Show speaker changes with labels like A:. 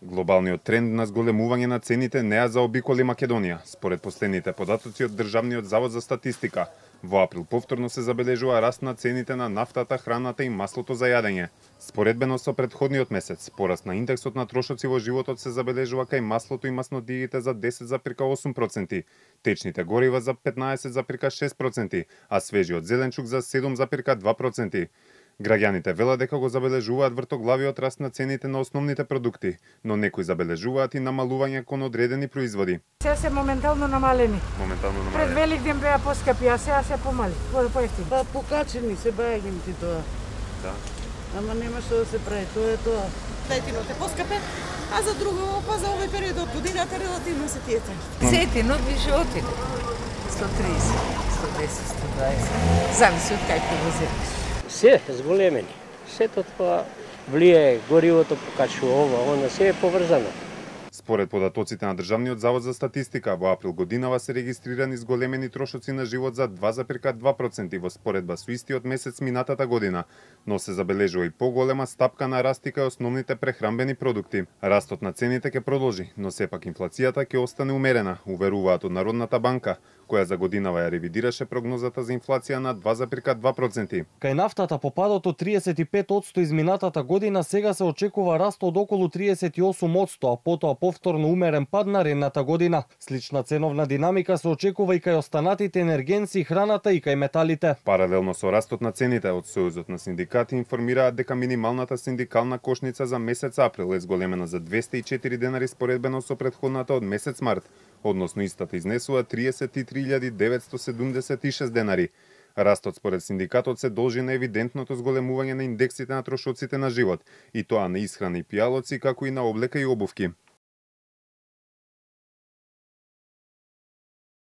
A: Глобалниот тренд на зголемување на цените не ја заобиколи Македонија. Според последните податоци од Државниот завод за статистика, во април повторно се забележува раст на цените на нафтата, храната и маслото за јадење. Споредбено со претходниот месец, пораст на индексот на трошоци во животот се забележува кај маслото и маснодиите за 10,8%, течните горива за 15,6%, а свежиот зеленчук за 7,2%. Граѓаните велат дека го забележуваат вртоглавиот раст на цените на основните продукти, но некои забележуваат и намалување кон одредени производи.
B: Сега се моментално намалени. Пред Великден беа поскапи, а сега се помали, поевтини.
C: Па покачени се бајагим ти тоа.
A: Да.
C: Ама нема што да се прави, тоа е тоа.
D: Сетинот е поскапе, а за друго, па за овој период од годината релативно се тие цени.
E: Сетинот више отиде. 130, 110, 120. Зависи од кај ќе го земеш.
F: Се зголемени. Сето тоа влијае, горивото покачува ова, она се е поврзано.
A: Според податоците на Државниот завод за статистика, во април годинава се регистрирани зголемени трошоци на живот за 2,2% во споредба со истиот месец минатата година, но се забележува и поголема стапка на раст кај основните прехранбени продукти. Растот на цените ќе продолжи, но сепак инфлацијата ќе остане умерена, уверуваат од Народната банка, која за годинава ја ревидираше прогнозата за инфлација на 2,2%.
G: Кај нафтата по падот од 35% изминатата година сега се очекува раст од околу 38%, а потоа повторно умерен пад наредната година. Слична ценовна динамика се очекува и кај останатите енергенци, храната и кај металите.
A: Паралелно со растот на цените, од Сојузот на синдикати информираат дека минималната синдикална кошница за месец април е зголемена за 204 денари споредбено со претходната од месец март, односно истата изнесува 33.976 денари. Растот според синдикатот се должи на евидентното зголемување на индексите на трошоците на живот, и тоа на исхрана и пијалоци, како и на облека и обувки.